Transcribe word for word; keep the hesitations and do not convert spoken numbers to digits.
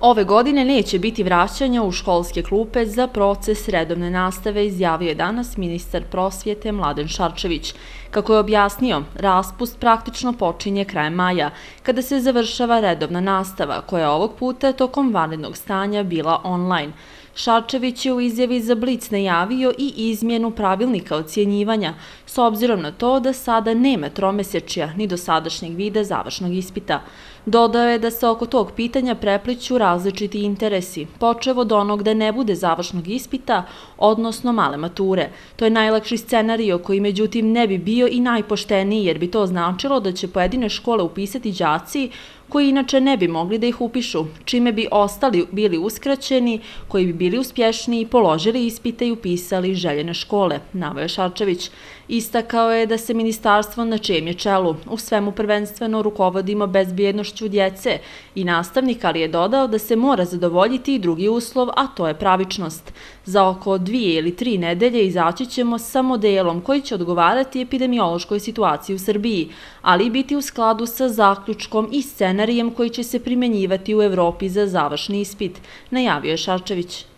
Ove godine neće biti vraćanja u školske klupe za proces redovne nastave, izjavio je danas ministar prosvjete Mladen Šarčević. Kako je objasnio, raspust praktično počinje krajem maja, kada se završava redovna nastava, koja je ovog puta tokom vanrednog stanja bila online. Šarčević je u izjavi za Blic najavio i izmjenu pravilnika ocjenjivanja, s obzirom na to da sada nema tromesečja ni dosadašnjeg vida završnog ispita. Dodao je da se oko tog pitanja prepliću različiti interesi, počev od onog da ne bude završnog ispita, odnosno male mature. To je najlakši scenario koji međutim ne bi bio i najpošteniji, jer bi to značilo da će pojedine škole upisati đaci koji inače ne bi mogli da ih upišu, čime bi ostali bili uskraćeni, koji bi bili uspješniji, položili ispite i upisali željene škole, naveo je Šarčević. Istakao je da se ministarstvo na čijem je čelu u svemu prvenstveno rukovodimo bezbjednošću djece i nastavnika, ali je dodao da se mora zadovoljiti i drugi uslov, a to je pravičnost. Za oko dvije ili tri nedelje izaći ćemo sa modelom koji će odgovarati epidemiološkoj situaciji u Srbiji, ali i biti u skladu sa zaključkom i scenarijem koji će se primjenjivati u Evropi za završni ispit, najavio je Šarčević.